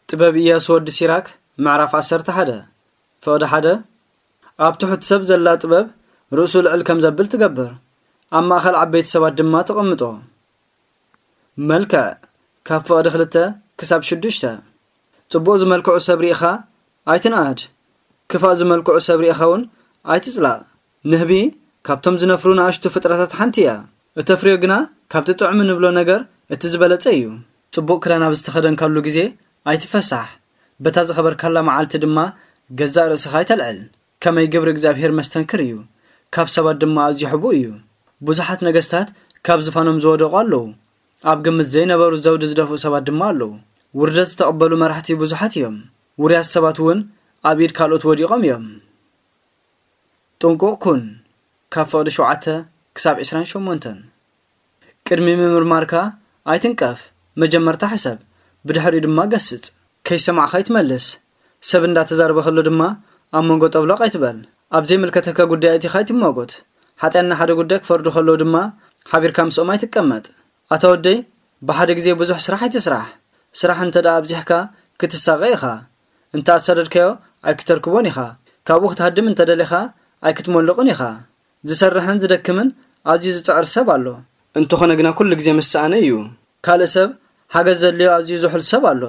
ጥበብ ኢያሱ ወዲ ሲራክ፣ ምዕራፍ ዓሰርተ ሓደ። ፍቕዲ ሓደ። ኣብ ትሑት ሰብ ዘላ ጥበብ ርእሱ ልዕል ከም ዘብል ትገብር፣ ኣብ ማእከል ዓበይቲ ሰባት ድማ ተቐምጦ። መልክዕ፣ ካብ ፍቕዲ ክልተ ክሳብ ሽዱሽተ። ጽቡቕ ዝመልክዑ ሰብ ርኢኻ ኣይትንኣድ፣ ክፋእ ዝመልክዑ ሰብ ርኢኻ እውን ኣይትጽላእ። ንህቢ ካብቶም ዝነፍሩ ንኣሽቱ ፍጥረታት ሓንቲ እያ። እተፍርዮ ግና ካብቲ ጥዑም እንብሎ ነገር እቲ ዝበለጸ እዩ። ጽቡቕ ክዳን ኣብ ዝተኸደንካሉ ግዜ ኣይትፈሳሕ፣ በታ ዝኸበርካላ መዓልቲ ድማ ገዛእ ርእስኻ ኣይተልዕል። ከመይ ግብሪ እግዚኣብሔር መስተንክር እዩ፣ ካብ ሰባት ድማ ኣዝዩ ሕቡእ እዩ። ብዙሓት ነገስታት ካብ ዝፋኖም ዝወደቑ ኣለዉ፣ ኣብ ግምት ዘይነበሩ ዘውዲ ዝደፍኡ ሰባት ድማ ኣለዉ። ውርደት ዝተቐበሉ መራሕቲ ብዙሓት እዮም፣ ውርያት ሰባት እውን ኣብ ኢድ ካልኦት ወዲቖም እዮም። ጥንቁቕ ኩን፣ ካብ ፍቕዲ ሸውዓተ ክሳብ ዕስራን ሸሞንተን። ቅድሚ ምምርማርካ ኣይትንቀፍ፣ መጀመርታ ሕሰብ፣ ብድሕሪኡ ድማ ገስጽ። ከይሰማዕካ ኣይትመልስ፣ ሰብ እንዳተዛረበ ከሎ ድማ ኣብ መንጎ ጠብሎቕ ኣይትበል። ኣብ ዘይምልከተካ ጉዳይ ኣቲኻ ኣይትማጎት። ሓጢኣን ንሓደ ጉዳይ ክፈርዱ ከለዉ ድማ ሓቢርካ ምስኦም ኣይትቀመጥ። ኣታ ወደይ፣ ብሓደ ግዜ ብዙሕ ስራሕ ኣይትስራሕ። ስራሕ እንተ ደኣ ኣብዚሕካ ክትሳቐ ኢኻ። እንተ ኣሳደድካዮ ኣይክተርክቦን ኢኻ። ካብኡ ክትሃድም እንተ ደሊኻ ኣይክትመልቕን ኢኻ። ዝሰርሕን ዝደክምን ኣዝዩ ዝጽዕር ሰብ ኣሎ። እንተኾነ ግና ኩሉ ግዜ ምስ ሰኣነ እዩ። ካልእ ሰብ ሓገዝ ዘድልዮ ኣዝዩ ዝሑል ሰብ ኣሎ።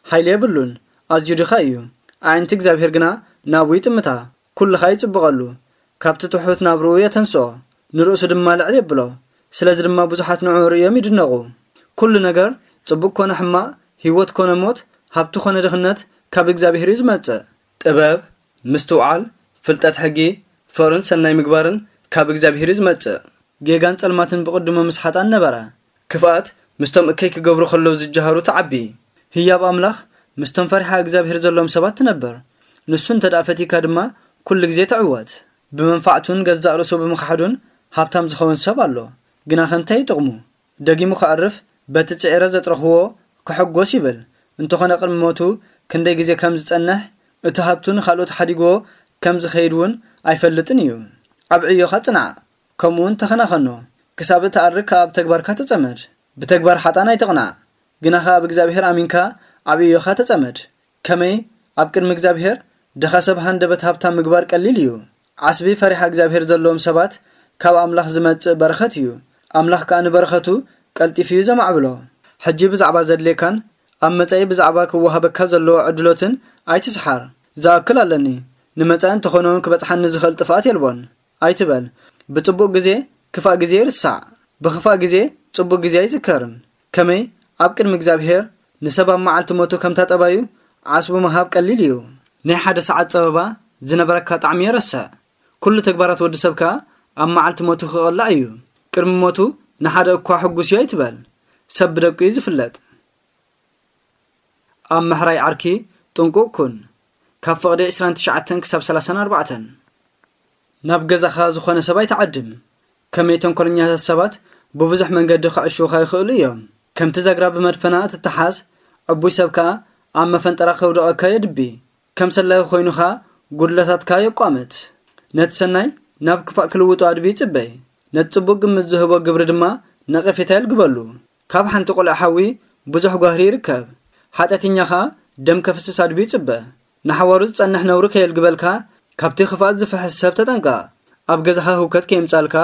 ሓይሊ የብሉን፣ ኣዝዩ ድኻ እዩ። ኣዒንቲ እግዚኣብሔር ግና ናብኡ ይጥምታ፣ ኩልኻ ይጽብቐሉ። ካብቲ ትሑት ናብርኡ የተንስኦ፣ ንርእሱ ድማ ልዕል የብሎ። ስለዚ ድማ ብዙሓት ንዕኡ ርእዮም ይድነቑ። ኩሉ ነገር፣ ጽቡቕ ኮነ ሕማቕ፣ ህይወት ኮነ ሞት፣ ሃብቲ ኮነ ድኽነት፣ ካብ እግዚኣብሔር እዩ ዝመጽእ። ጥበብ፣ ምስትውዓል፣ ፍልጠት ሕጊ፣ ፍቕርን ሰናይ ምግባርን ካብ እግዚኣብሔር እዩ ዝመጽእ። ጌጋን ጸልማትን ብቕድሙ ምስ ሓጣን ነበረ። ክፍኣት ምስቶም እከይ ክገብሩ ከለዉ ዝጀሃሩ ትዓቢ። ህያብ ኣምላኽ ምስቶም ፈሪሓ እግዚኣብሔር ዘለዎም ሰባት ትነብር። ንሱ እንተ ደኣ ፈቲካ ድማ ኩሉ ግዜ ትዕወት። ብመንፋዕቱን ገዛእ ርእሱ ብምኽሓዱን ሃብታም ዝኸውን ሰብ ኣሎ። ግናኸ እንታይ ይጥቕሙ? ደጊሙ ከዕርፍ፣ በቲ ጽዒረ ዘጥረኽዎ ክሕጎስ ይብል። እንተኾነ ቅድሚ ሞቱ ክንደይ ግዜ ከም ዝጸንሕ፣ እቲ ሃብቱ ንኻልኦት ሓዲግዎ ከም ዝኸይድ እውን ኣይፈልጥን እዩ። ኣብ ዕዮኻ ጽናዕ፣ ከምኡውን ተኸናኸኖ። ክሳብ እትኣርግ ከኣ ኣብ ተግባርካ ተጸመድ። ብተግባር ሓጣን ኣይትቕናዕ፣ ግናኸ ኣብ እግዚኣብሔር ኣሚንካ ኣብ ዕዮኻ ተጸመድ። ከመይ ኣብ ቅድሚ እግዚኣብሔር ድኻ ሰብ ሃንደበት ሃብታም ምግባር ቀሊል እዩ። ዓስቢ ፈሪሓ እግዚኣብሔር ዘለዎም ሰባት ካብ ኣምላኽ ዝመጽእ በረኸት እዩ። ኣምላኽ ከኣ ንበረኸቱ ቀልጢፉ እዩ ዘማዕብሎ። ሕጂ ብዛዕባ ዘድልየካን ኣብ መጻኢ ብዛዕባ ክወሃበካ ዘለዎ ዕድሎትን ኣይትስሓር። ዝኣክል ኣለኒ፣ ንመጻኢ እንተኾነ እውን ክበጽሓኒ ዝኽእል ጥፍኣት የልቦን ኣይትበል። ብጽቡቕ ግዜ ክፋእ ግዜ ይርሳዕ፣ ብኽፋእ ግዜ ጽቡቕ ግዜ ኣይዝከርን። ከመይ ኣብ ቅድሚ እግዚኣብሔር ንሰብ ኣብ መዓልቲ ሞቱ ከምታ ጠባዩ ዓስቡ ምሃብ ቀሊል እዩ። ናይ ሓደ ሰዓት ጸበባ ዝነበረካ ጣዕሚ የረስዕ። ኩሉ ተግባራት ወዲ ሰብ ከኣ ኣብ መዓልቲ ሞቱ ክቕላዕ እዩ። ቅድሚ ሞቱ ንሓደ እኳ ሕጉስ እዩ ኣይትበል። ሰብ ብደቁ እዩ ዝፍለጥ። ኣብ ምሕራይ ዓርኪ ጥንቁቕ ኩን። ካብ ፍቕዲ ዕስራን ትሽዓተን ክሳብ ሰላሳን ኣርባዕተን። ናብ ገዛኻ ዝኾነ ሰብ ኣይትዓድም። ከመይ ተንኮለኛታት ሰባት ብብዙሕ መንገዲ ክዕሽዉኻ ይኽእሉ እዮም። ከምቲ ዛግራ ብመድፈና እትተሓዝ፣ ዕቡይ ሰብ ከኣ ኣብ መፈንጠራ ከውድቐካ የድቢ። ከም ሰላዩ ኮይኑኻ ጉድለታትካ የቋምት። ነቲ ሰናይ ናብ ክፋእ ክልውጦ ኣድቢ ይጽበ። ነቲ ጽቡቕ ግምት ዝህቦ ግብሪ ድማ ነቐፌታ የልግበሉ። ካብ ሓንቲ ቆልዓ ሓዊ ብዙሕ ጓህሪ ይርከብ። ሓጢኣተኛ ኸኣ ደም ከፍስስ ኣድቢ ይጽበ። ንሓዋሩ ዝጸንሕ ነውሪ ከየልግበልካ፣ ካብቲ ክፍኣት ዝፍሕስ ሰብ ተጠንቀቕ። ኣብ ገዛኻ ህውከት ከየምጻልካ፣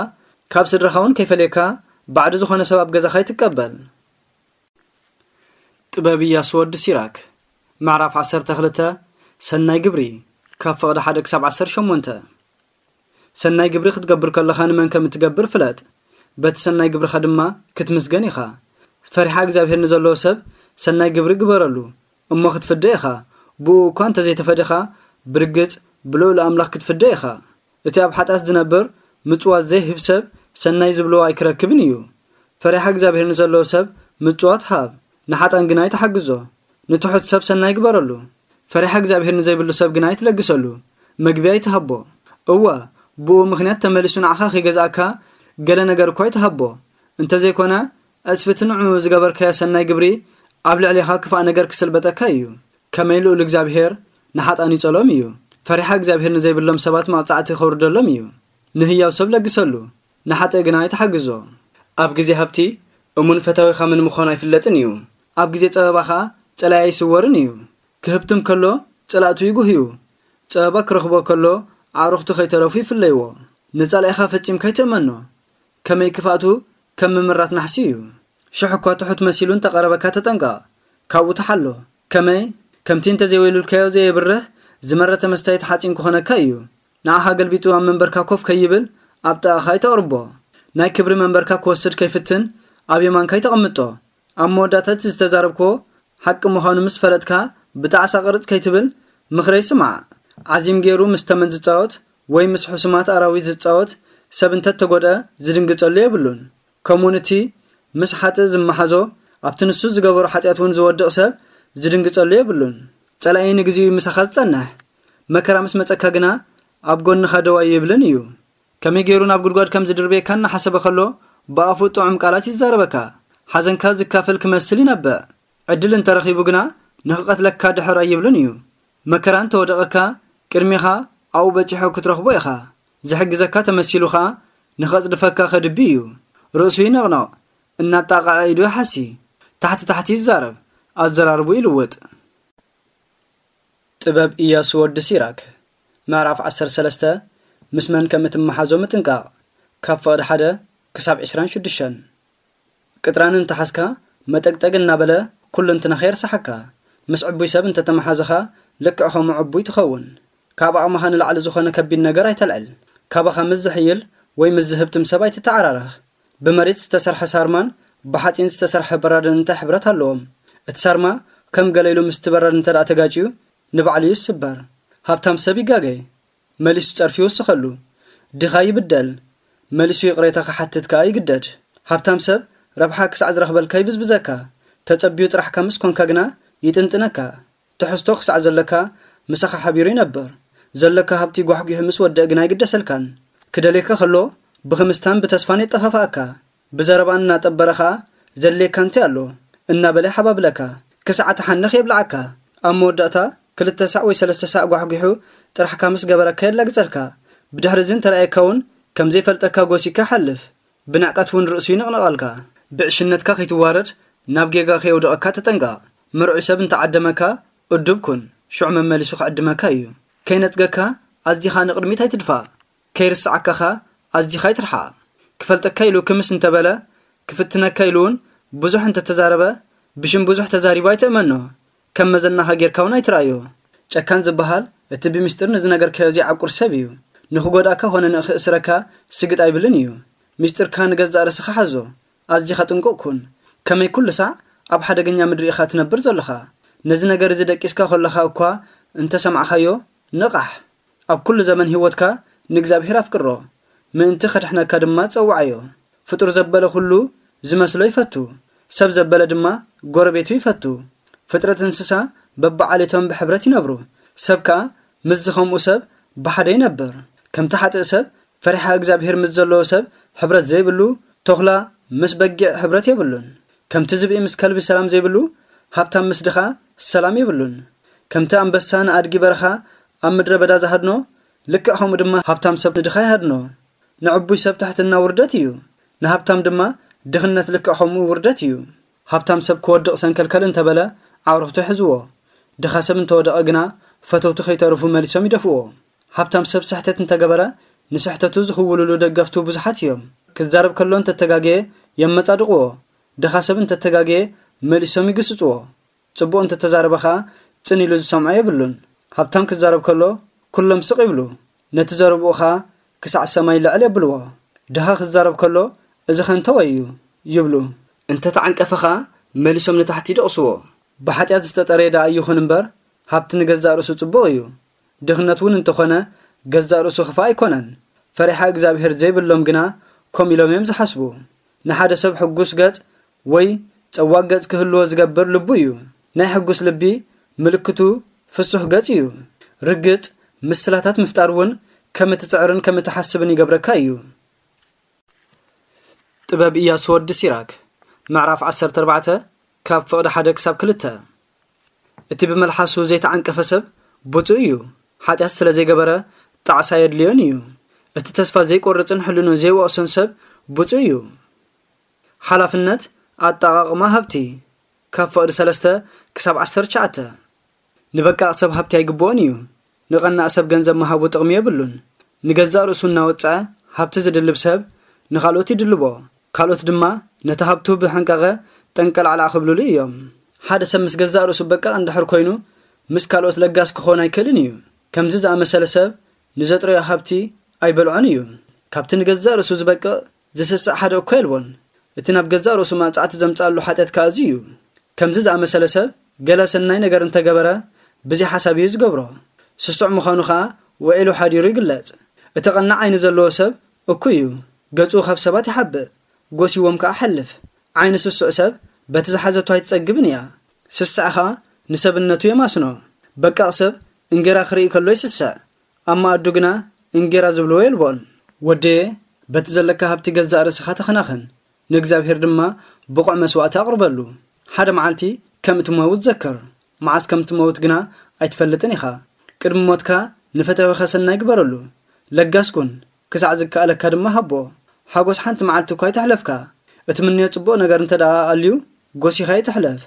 ካብ ስድራኻ እውን ከይፈለየካ፣ ባዕዲ ዝኾነ ሰብ ኣብ ገዛኻ ኣይትቀበል። ጥበብ ኢያሱ ወዲ ሲራክ። ምዕራፍ ዓሰርተ ክልተ። ሰናይ ግብሪ፣ ካብ ፍቕዲ ሓደ ክሳብ ዓሰርተ ሸሞንተ። ሰናይ ግብሪ ክትገብር ከለኻ ንመን ከም እትገብር ፍለጥ፣ በቲ ሰናይ ግብርኻ ድማ ክትምስገን ኢኻ። ፈሪሓ እግዚኣብሔር ንዘለዎ ሰብ ሰናይ ግብሪ ግበረሉ፣ እሞ ክትፍደ ኢኻ። ብእኡ እኳ እንተ ዘይተፈደኻ፣ ብርግጽ ብልዑል ኣምላኽ ክትፍደ ኢኻ። እቲ ኣብ ሓጢኣት ዝነብር ምጽዋት ዘይህብ ሰብ ሰናይ ዝብልዎ ኣይክረክብን እዩ። ፈሪሓ እግዚኣብሔር ንዘለዎ ሰብ ምጽዋት ሃብ፣ ንሓጣን ግና ኣይትሓግዞ። ንትሑት ሰብ ሰናይ ግበረሉ፣ ፈሪሓ እግዚኣብሔር ንዘይብሉ ሰብ ግና ኣይትለግሰሉ። መግቢ ኣይትሃቦ። እወ፣ ብኡ ምኽንያት ተመሊሱ ንዓኻ ከይገዝኣካ ገለ ነገር እኳ ኣይትሃቦ። እንተዘይኮነ፣ ዕጽፍቲ ንዕኡ ዝገበርካዮ ሰናይ ግብሪ ኣብ ልዕሌኻ ክፋእ ነገር ክስልበጠካ እዩ። ከመይ ልኡል እግዚኣብሔር ንሓጣን ይጸሎም እዩ። ፈሪሓ እግዚኣብሔር ንዘይብሎም ሰባት መቕጻዕቲ ከውርደሎም እዩ። ንህያው ሰብ ለግሰሉ፣ ንሓጥእ ግና ኣይትሓግዞ። ኣብ ግዜ ሃብቲ እሙን ፈታዊኻ ምን ምዃኑ ኣይፍለጥን እዩ። ኣብ ግዜ ጸበባ ኸኣ ጸላኢ ኣይስወርን እዩ። ክህብትም ከሎ ጸላእቱ ይጉህዩ። ጸበባ ክረኽቦ ከሎ ኣዕሩኽቱ ከይተረፉ ይፍለይዎ። ንጸላኢኻ ፈጺምካ ኣይትእመኖ። ከመይ ክፍኣቱ ከም ምምራት ናሕሲ እዩ። ሽሕ እኳ ትሑት መሲሉ እንተቐረበካ ተጠንቀቕ። ካብኡ ተሓሎ። ከመይ? ከምቲ እንተዘይወይሉልካዮ ዘየብርህ ዝመረተ መስታይት ሓጺን ክኾነካ እዩ። ንዓኻ ገልቢጡ ኣብ መንበርካ ኮፍ ከይብል ኣብ ጥቓኻ ኣይተቕርቦ። ናይ ክብሪ መንበርካ ክወስድ ከይፍትን ኣብ የማንካ ኣይተቐምጦ። ኣብ መወዳእታ እቲ ዝተዛረብክዎ ሓቂ ምዃኑ ምስ ፈለጥካ ብጣዕሳ ቅርጽ ከይትብል ምኽረይ ስማዕ። ዓዚም ገይሩ ምስ ተመን ዝጻወት ወይ ምስ ሕሱማት ኣራዊት ዝጻወት ሰብ እንተተጎድኣ ዝድንግጸሉ የብሉን። ከምኡውን እቲ ምስ ሓጥእ ዝመሓዞ ኣብቲ ንሱ ዝገበሮ ሓጢኣት እውን ዝወድቕ ሰብ ዝድንግጸሉ የብሉን። ጸላኢ ንግዜኡ ምሳኻ ዝጸንሕ፣ መከራ ምስ መጸካ ግና ኣብ ጎንኻ ደው ኣይብልን እዩ። ከመይ ገይሩ ናብ ጉድጓድ ከም ዝድርበየካ እናሓሰበ ከሎ ብኣፉ ጥዑም ቃላት ይዛረበካ። ሓዘንካ ዝካፈል ክመስል ይነብዕ። ዕድል እንተረኺቡ ግና ንኽቐትለካ ድሕር ኣይብልን እዩ። መከራ እንተወደቐካ ቅድሚኻ ኣብኡ በጺሑ ክትረኽቦ ኢኻ። ዝሕግዘካ ተመሲሉ ኸኣ ንኸጽድፈካ ከድቢ እዩ። ርእሱ ይነቕነቕ፣ እናጣቕዐ ኢዱ ይሓሲ። ታሕቲ ታሕቲ ይዛረብ፣ ኣዘራርቡ ይልውጥ። ጥበብ ኢያሱ ወዲ ሲራክ። ምዕራፍ ዓሰርተ ሰለስተ። ምስ መን ከም እትመሓዞ ምጥንቃቕ። ካብ ፍቕዲ ሓደ ክሳብ ዕስራን ሽዱሽተን። ቅጥራን እንተሓዝካ መጠግጠግ እናበለ ኩሉ እንትናኻ የርሳሓካ። ምስ ዕቡይ ሰብ እንተተመሓዘኻ ልክዕ ከምኡ ዕቡይ ትኸውን። ካብ ዓቕምኻ ንላዕሊ ዝኾነ ከቢድ ነገር ኣይተልዕል። ካባኻ ምስ ዝሕይል ወይ ምስ ዝህብትም ሰብ ኣይትተዓራረኽ። ብመሬት ዝተሰርሐ ሳርማን ብሓጺን ዝተሰርሐ በራድን እንታይ ሕብረት ኣለዎም? እቲ ሳርማ ከም ገለ ኢሉ ምስቲ በራድ እንተ ደኣ ተጋጭዩ ንባዕሉ እዩ ዝስበር። ሃብታም ሰብ ይጋገ። መሊሱ ጸርፊ ይውስኸሉ። ድኻ ይብደል። መሊሱ ይቕሬታ ክሓትት ከኣ ይግደድ። ሃብታም ሰብ ረብሓ ክሳዕ ዝረኽበልካ ይብዝብዘካ። ተጸብዩ ጥራሕካ ምስ ኮንካ ግና ይጥንጥነካ። ትሕዝቶ ክሳዕ ዘለካ ምሳኻ ሓቢሩ ይነብር። ዘለካ ሃብቲ ጓሕጒሑ ምስ ወደአ ግና ኣይግደሰልካን። ክደልየካ ከሎ ብኽምስታን ብተስፋን የጠፋፍኣካ። ብዘረባ እናጠበረ ኸኣ ዘድልየካ እንታይ ኣሎ እናበለ ይሓባብለካ። ክሳዕ ትሓንኽ የብልዓካ። ኣብ መወዳእታ ክልተ ሳዕ ወይ ሰለስተ ሳዕ ጓሕጒሑ ጥራሕካ ምስ ገበረካ የላግጸልካ። ብድሕሪ እዚ እንተ ረኣየካ እውን ከም ዘይፈልጠካ ጎሲካ ይሓልፍ። ብንዕቀት እውን ርእሱ ይንቕንቐልካ። ብዕሽነትካ ከይትዋረድ ናብ ጌጋ ከየውድቐካ ተጠንቀቕ። ምርዑይ ሰብ እንተዓደመካ እዱብ ኩን፣ ሽዑ መመሊሱ ክዕድመካ እዩ። ከይነጽገካ ኣዚኻ ንቕድሚት ኣይትድፋእ። ከይርስዓካ ኸኣ ኣዚኻ ኣይትርሓቕ። ክፈልጠካ ኢሉ ክምስ እንተበለ፣ ክፍትነካ ኢሉ እውን ብዙሕ እንተተዛረበ፣ ብሽም ብዙሕ ተዛሪቡ ኣይትእመኖ። ከም መዘናኻ ጌርካ እውን ኣይትርኣዮ። ጨካን ዝበሃል እቲ ብምስጢር ንዝነገርካዮ ዘይዓቁር ሰብ እዩ። ንኽጎድኣካ ኾነ ንኽእስረካ ስግጥ ኣይብልን እዩ። ምስጢርካ ንገዛእ ርእስኻ ሓዞ። ኣዚኻ ጥንቁቕ ኩን። ከመይ ኩሉ ሳዕ ኣብ ሓደገኛ ምድሪ ኢኻ ትነብር ዘለኻ? ነዚ ነገር እዚ ደቂስካ ከለኻ እኳ እንተ ሰማዕኻዮ፣ ንቓሕ። ኣብ ኩሉ ዘመን ህይወትካ ንእግዚኣብሄር ኣፍቅሮ፣ ምእንቲ ከድሕነካ ድማ ጸውዓዮ። ፍጡር ዘበለ ኩሉ ዝመስሎ ይፈቱ፣ ሰብ ዘበለ ድማ ጎረቤቱ ይፈቱ። ፍጥረት እንስሳ በብዓሌቶም ብሕብረት ይነብሩ፣ ሰብ ከኣ ምስዚ ኸምኡ ሰብ ብሓደ ይነብር። ከምቲ ሓጥእ ሰብ ፈሪሓ እግዚኣብሄር ምስ ዘለዎ ሰብ ሕብረት ዘይብሉ፣ ተኹላ ምስ በጊዕ ሕብረት የብሉን። ከምቲ ዝብኢ ምስ ከልቢ ሰላም ዘይብሉ፣ ሃብታም ምስ ድኻ ሰላም የብሉን። ከምቲ ኣንበሳ ንኣድጊ በረኻ ኣብ ምድረ በዳ ዝሃድኖ፣ ልክዕ ከምኡ ድማ ሃብታም ሰብ ንድኻ ይሃድኖ። ንዕቡይ ሰብ ትሕትና ውርደት እዩ፣ ንሃብታም ድማ ድኽነት ልክዕ ከምኡ ውርደት እዩ። ሃብታም ሰብ ክወድቕ ሰንከልከል እንተበለ፣ ኣዕሩኽቱ ይሕዝዎ። ድኻ ሰብ እንተወደቐ ግና፣ ፈተውቱ ከይተርፉ መሊሶም ይደፍእዎ። ሃብታም ሰብ ስሕተት እንተገበረ፣ ንስሕተቱ ዝኽውልሉ ደገፍቱ ብዙሓት እዮም። ክዛረብ ከሎ እንተተጋገየ የመጻድቕዎ። ድኻ ሰብ እንተተጋገየ መሊሶም ይግስጽዎ። ጽቡቕ እንተተዛረበ ኸኣ ጽን ኢሉ ዝሰምዖ የብሉን። ሃብታም ክዛረብ ከሎ ኩሎም ስቕ ይብሉ። ነቲ ዘረብኡ ኸኣ ክሳዕ ሰማይ ልዕል የብልዎ። ድኻ ክዛረብ ከሎ እዚ ኸ እንተወይ እዩ ይብሉ። እንተተዓንቀፈ ኸኣ መሊሶም ንታሕቲ ይደቕስዎ። ብሓጢኣት ዝተጠረየ ደኣ ይኹን እምበር ሃብቲ ንገዛእ ርእሱ ጽቡቕ እዩ። ድኽነት እውን እንተኾነ ገዛእ ርእሱ ክፋእ ኣይኮነን። ፈሪሓ እግዚኣብሄር ዘይብሎም ግና ከምኡ ኢሎም እዮም ዝሓስቡ። ንሓደ ሰብ ሕጉስ ገጽ ወይ ጸዋግ ገጽ ክህልዎ ዝገብር ልቡ እዩ። ናይ ሕጉስ ልቢ ምልክቱ ፍሱህ ገጽ እዩ። ርግጽ፣ ምስላታት ምፍጣር እውን ከም እትጽዕርን ከም እትሓስብን ይገብረካ እዩ። ጥበብ ኢያሱ ወዲ ሲራክ። ምዕራፍ ዓሰርተ ኣርባዕተ፣ ካብ ፍቕዲ ሓደ ክሳብ ክልተ። እቲ ብመልሓሱ ዘይተዓንቀፈ ሰብ ብፁዕ እዩ። ሓጢኣት ስለ ዘይገበረ ጣዕሳ የድልዮን እዩ። እቲ ተስፋ ዘይቆርጽን ሕልኑ ዘይወቕሶን ሰብ ብፁዕ እዩ። ሓላፍነት ኣጠቓቕማ ሃብቲ፣ ካብ ፍቕዲ ሰለስተ ክሳብ ዓሰርተ ትሽዓተ። ንበቃቕ ሰብ ሃብቲ ኣይግብኦን እዩ። ንቐናእ ሰብ ገንዘብ ምሃቡ ጥቕሚ የብሉን። ንገዛእ ርእሱ እናወጽዐ ሃብቲ ዝድልብ ሰብ ንኻልኦት ይድልቦ። ካልኦት ድማ ነቲ ሃብቱ ብሕንቃቐ ጠንቀላዕላዕ ክብልሉ እዮም። ሓደ ሰብ ምስ ገዛእ ርእሱ በቃቕ እንድሕር ኮይኑ፣ ምስ ካልኦት ለጋስ ክኾን ኣይክእልን እዩ። ከምዚ ዝኣመሰለ ሰብ ንዘጥረዮ ሃብቲ ኣይበልዖን እዩ። ካብቲ ንገዛእ ርእሱ ዝበቅቕ ዝስስዕ ሓደ እኮ የልቦን። እቲ ናብ ገዛእ ርእሱ ማጽዓቲ ዘምጽኣሉ ሓጢኣት ከኣ እዚ እዩ። ከምዚ ዝኣመሰለ ሰብ ገለ ሰናይ ነገር እንተገበረ ብዘይ ሓሳብ እዩ ዝገብሮ። ስሱዕ ምዃኑ ኸኣ ውዒሉ ሓዲሩ ይግለጽ። እቲ ቀናእ ዓይኒ ዘለዎ ሰብ እኩይ እዩ። ገጹ ካብ ሰባት ይሓብእ፣ ጎሲዎም ከኣ ሓልፍ። ዓይኒ ስሱዕ ሰብ በቲ ዝሓዘቶ ኣይትጸግብን እያ። ስስዕ ኸኣ ንሰብነቱ የማስኖ። በቃቕ ሰብ እንጌራ ክርኢ ከሎ ይስስዕ፣ ኣብ መኣዱ ግና እንጌራ ዝብልዎ የልቦን። ወደየ፣ በቲ ዘለካ ሃብቲ ገዛእ ርእስኻ ተኸናኸን፣ ንእግዚኣብሔር ድማ ብቑዕ መስዋእቲ ኣቕርበሉ። ሓደ መዓልቲ ከም እትመውት ዘክር። መዓስ ከም እትመውት ግና ኣይትፈልጥን ኢኻ። ቅድሚ ሞትካ ንፈታዊኻ ሰናይ ግበረሉ። ለጋስ ኩን፣ ክሳዕ ዝከኣለካ ድማ ሃቦ። ሓጎስ ሓንቲ መዓልቲ እኳ ኣይትሕለፍካ። እትምንዮ ጽቡቕ ነገር እንተ ደኣ ኣልዩ፣ ጎሲኻ ኣይትሕለፍ።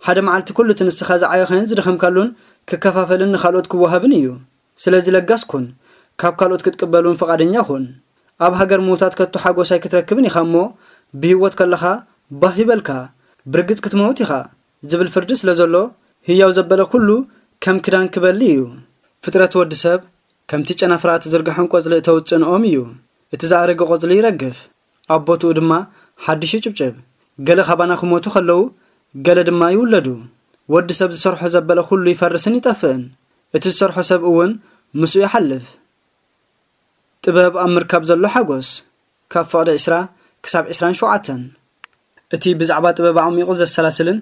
ሓደ መዓልቲ ኩሉ እቲ ንስኻ ዝዓየኻዮን ዝደኸምካሉን ክከፋፈልን ንኻልኦት ክወሃብን እዩ። ስለዚ ለጋስ ኩን፣ ካብ ካልኦት ክትቅበል እውን ፍቓደኛ ኩን። ኣብ ሃገር ምዉታት ከቶ ሓጎስ ኣይክትረክብን ኢኻ እሞ፣ ብህይወት ከለኻ ባህ ይበልካ፣ ብርግጽ ክትመውት ኢኻ ዝብል ፍርዲ ስለ ዘሎ፣ ህያው ዘበለ ኩሉ ከም ክዳን ክበሊ እዩ። ፍጥረት ወዲ ሰብ ከምቲ ጨናፍራ ትዝርግሖም ቆጽሊ እተውጽእን ኦም እዩ። እቲ ዝኣረገ ቆጽሊ ይረግፍ፣ ኣብ ቦትኡ ድማ ሓድሽ ይጭብጭብ። ገለ ካባና ክሞቱ ከለዉ፣ ገለ ድማ ይውለዱ። ወዲ ሰብ ዝሰርሖ ዘበለ ኩሉ ይፈርስን ይጠፍእን። እቲ ዝሰርሖ ሰብ እውን ምስኡ ይሓልፍ። ጥበብ ኣብ ምርካብ ዘሎ ሓጎስ፣ ካብ ፍቕዲ ዕስራ ክሳብ ዕስራን ሸውዓተን። እቲ ብዛዕባ ጥበብ ኣዕሚቑ ዘሰላስልን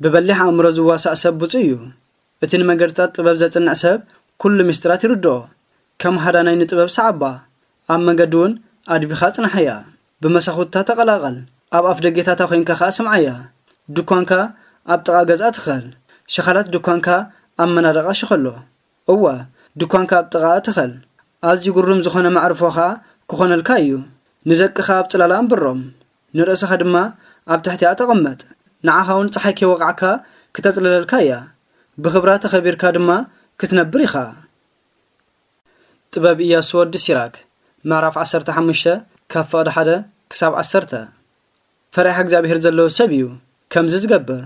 ብበሊሕ ኣእምሮ ዝዋሳእ ሰብ ብጹእ እዩ። እቲ ንመገድታት ጥበብ ዘጽንዕ ሰብ ኩሉ ምስጢራት ይርድኦ። ከም ሃዳናይ ንጥበብ ሰዓባ፣ ኣብ መገዲ እውን ኣድቢኻ ኣጽንሓያ። ብመሳኹታ ተቐላቐል፣ ኣብ ኣፍ ደጌታታ ኮይንካ ኸኣ ስምዓያ። ድኳንካ ኣብ ጥቓ ገዝኣ ትኸል፣ ሸኻላት ድኳንካ ኣብ መናድቓ ሽኸሎ። እወ፣ ድኳንካ ኣብ ጥቓኣ ትኸል፣ ኣዝዩ ግሩም ዝኾነ መዕርፎ ኸኣ ክኾነልካ እዩ። ንደቅኻ ኣብ ጽላላ ኣንብሮም፣ ንርእስኻ ድማ ኣብ ትሕቲኣ ተቐመጥ። ንዓኻ እውን ጸሓይ ከይወቕዓካ ክተጽልለልካ እያ። ብኽብራ ተኸቢርካ ድማ ክትነብር ኢኻ። ጥበብ ኢያሱ ወዲ ሲራክ፣ ምዕራፍ ዓሰርተ ሓሙሽተ፣ ካብ ፍቕዲ ሓደ ክሳብ ዓሰርተ። ፈሪሃ እግዚኣብሔር ዘለዎ ሰብ እዩ ከምዚ ዝገብር።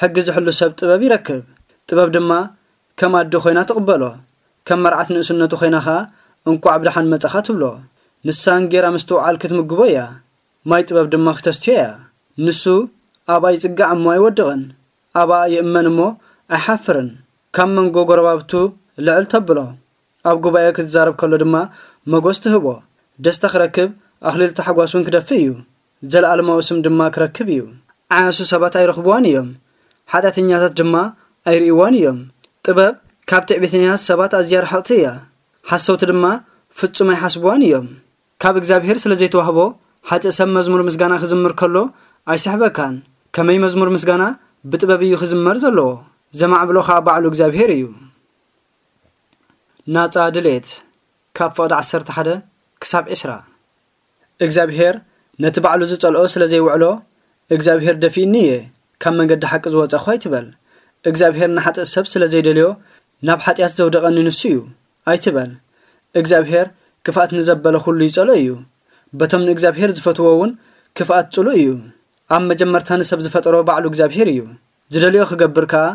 ሕጊ ዝሕሉ ሰብ ጥበብ ይረክብ። ጥበብ ድማ ከም ኣደ ኮይና ትቕበሎ። ከም መርዓት ንእስነቱ ኮይና ኸኣ፣ "እንቋዕ ብደሓን መጻኻ" ትብሎ። ንሳ እንጌራ ምስትውዓል ክትምግቦ እያ። ማይ ጥበብ ድማ ክተስትዮ እያ። ንሱ ኣብኣ ይጽጋዕ እሞ ኣይወድቕን። ኣብኣ ይእመን እሞ ኣይሓፍርን። ካብ መንጎ ጎረባብቱ ልዕል ተብሎ። ኣብ ጉባኤ ክዛረብ ከሎ ድማ መጎስ ትህቦ። ደስታ ክረክብ፣ ኣኽሊል ታሕጓስ እውን ክደፍእ እዩ። ዘለኣለማዊ ስም ድማ ክረክብ እዩ። ዓያሱ ሰባት ኣይረኽብዋን እዮም። ሓጢኣተኛታት ድማ ኣይርእይዋን እዮም። ጥበብ ካብ ትዕቢተኛታት ሰባት ኣዝያ ርሕቕቲ እያ። ሓሰውቲ ድማ ፍጹም ኣይሓስብዋን እዮም። ካብ እግዚኣብሔር ስለ ዘይተዋህቦ፣ ሓጥእ ሰብ መዝሙር ምስጋና ክዝምር ከሎ ኣይስሕበካን። ከመይ መዝሙር ምስጋና ብጥበብ እዩ ክዝመር ዘለዎ። ዘማዕብሎ ኸኣ ባዕሉ እግዚኣብሔር እዩ። ናጻ ድሌት፣ ካብ ፍቕዲ ዓሰርተ ሓደ ክሳብ ዕስራ። እግዚኣብሔር ነቲ ባዕሉ ዝጸልኦ ስለ ዘይውዕሎ፣ "እግዚኣብሔር ደፊእኒ እየ፣ ካብ መንገዲ ሓቂ ዝወጸኹ" ኣይትበል። እግዚኣብሔር ንሓጥእ ሰብ ስለ ዘይደልዮ፣ "ናብ ሓጢኣት ዘውደቐኒ ንሱ እዩ" ኣይትበል። እግዚኣብሔር ክፍኣት ንዘበለ ኩሉ ይጸልኦ እዩ። በቶም ንእግዚኣብሔር ዝፈትዎ እውን ክፍኣት ጽሉእ እዩ። ኣብ መጀመርታ ንሰብ ዝፈጠሮ ባዕሉ እግዚኣብሔር እዩ። ዝደልዮ ክገብር ከኣ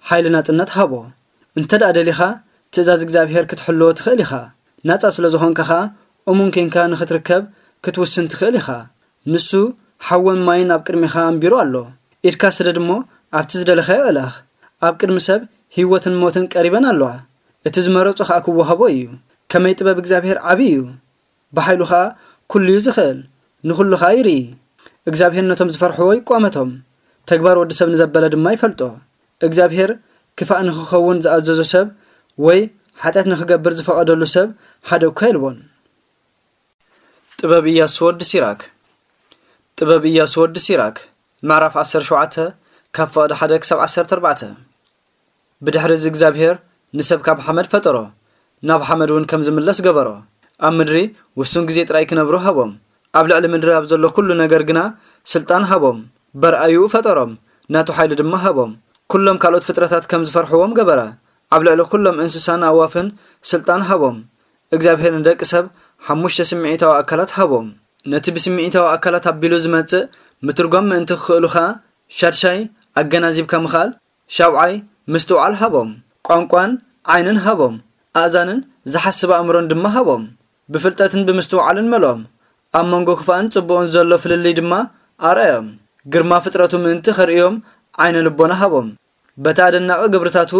ሓይሊ ናጽነት ሃቦ። እንተ ደኣ ደሊኻ፣ ትእዛዝ እግዚኣብሔር ክትሕልዎ ትኽእል ኢኻ። ናጻ ስለ ዝኾንካ ኸኣ፣ እሙን ኴንካ ንኽትርከብ ክትውስን ትኽእል ኢኻ። ንሱ ሓውን ማይን ኣብ ቅድሜኻ ኣንቢሩ ኣሎ። ኢድካ ስደድ እሞ፣ ኣብቲ ዝደለኻዮ እለኽ። ኣብ ቅድሚ ሰብ ህይወትን ሞትን ቀሪበን ኣለዋ። እቲ ዝመረጾ ኸኣ ክወሃቦ እዩ። ከመይ ጥበብ እግዚኣብሔር ዓቢ እዩ! ብሓይሉ ኸኣ ኩሉ እዩ ዝኽእል፣ ንኹሉ ኸኣ ይርኢ። እግዚኣብሔር ነቶም ዝፈርሕዎ ይቋመቶም፣ ተግባር ወዲ ሰብ ንዘበለ ድማ ይፈልጦ። እግዚኣብሔር ክፋእ ንኽኸውን ዝኣዘዞ ሰብ ወይ ሓጢኣት ንኽገብር ዝፈቐደሉ ሰብ ሓደ እኳ የልቦን። ጥበብ ኢያሱ ወዲ ሲራክ። ጥበብ ኢያሱ ወዲ ሲራክ፣ ምዕራፍ ዓሰርተ ሸውዓተ፣ ካብ ፍቕዲ ሓደ ክሳብ ዓሰርተ ኣርባዕተ። ብድሕሪ እዚ እግዚኣብሔር ንሰብ ካብ ሓመድ ፈጠሮ፣ ናብ ሓመድ እውን ከም ዝምለስ ገበሮ። ኣብ ምድሪ ውሱን ግዜ ጥራይ ክነብሩ ሃቦም። ኣብ ልዕሊ ምድሪ ኣብ ዘሎ ኩሉ ነገር ግና ስልጣን ሃቦም። በርኣይኡ ፈጠሮም፣ ናቱ ሓይሊ ድማ ሃቦም። ኩሎም ካልኦት ፍጥረታት ከም ዝፈርሕዎም ገበረ። ኣብ ልዕሊ ኩሎም እንስሳን ኣእዋፍን ስልጣን ሃቦም። እግዚኣብሔር ንደቂ ሰብ ሓሙሽተ ስምዒታዊ ኣካላት ሃቦም። ነቲ ብስምዒታዊ ኣካላት ኣቢሉ ዝመጽእ ምትርጓም ምእንቲ ክኽእሉ ኸኣ፣ ሻድሻይ ኣገናዚብካ ምኽኣል፣ ሻብዓይ ምስትውዓል ሃቦም። ቋንቋን ዓይንን ሃቦም። ኣእዛንን ዝሓስብ ኣእምሮን ድማ ሃቦም። ብፍልጠትን ብምስትውዓልን መልኦም። ኣብ መንጎ ክፋእን ጽቡቕን ዘሎ ፍልልይ ድማ ኣርኣዮም። ግርማ ፍጥረቱ ምእንቲ ኸርእዮም ዓይነ ልቦና ሃቦም። በቲ ኣደናቒ ግብርታቱ